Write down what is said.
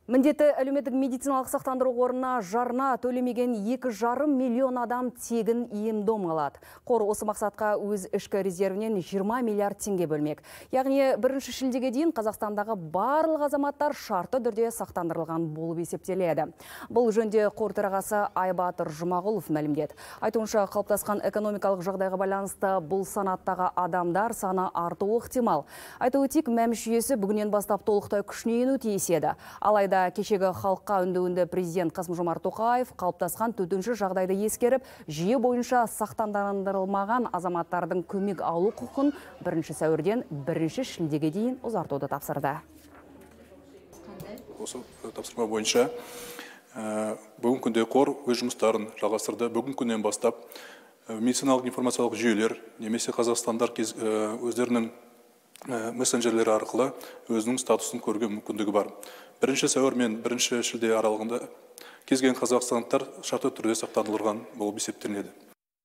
Міндетті әлеуметтік медициналық сақтандыру қорына жарна төлемеген 2,5 миллион адам тегін ем-дом алады. Қор осы мақсатқа өз ішкі резервінен 20 миллиард теңге бөлмек. Яғни 1 шілдеге дейін Қазақстандағы барлық азаматтар шартты түрде сақтандырылған болып есептеледі. Бұл жөнде қор төрағасы Айбатыр Жұмағұлов мәлімдеді. Айтуынша, қалыптасқан экономикалық жағдайға байланысты бұл санаттағы адамдар саны артуы ықтимал. Айтуы тек мәмс жүйесі бүгінен бастап толықтай күшіне ену тиіс еді. Алайда кешегі халыққа үндеуінде президент Қасым-Жомарт Тоқаев қалыптасқан төтенше жағдайды ескеріп, жүйе бойынша сақтандырылмаған азаматтардың көмек алу құқын 1 сәуірден 1 шілдеге дейін ұзартуды тапсырды. Осы тапсырма бойынша бүгін күнде қор өз жұмыстарын жалғастырды. Бүгін күннен бастап медициналық информациялық жүйелер немесе қазақстандар өздерінің мессенджерлері арқылы өзінің статусын көруге мүмкіндігі бар. 1 сәуір мен 1 шілде аралығында кез келген қазақстандықтар шартты түрде сақтандырылған болып есептелінеді.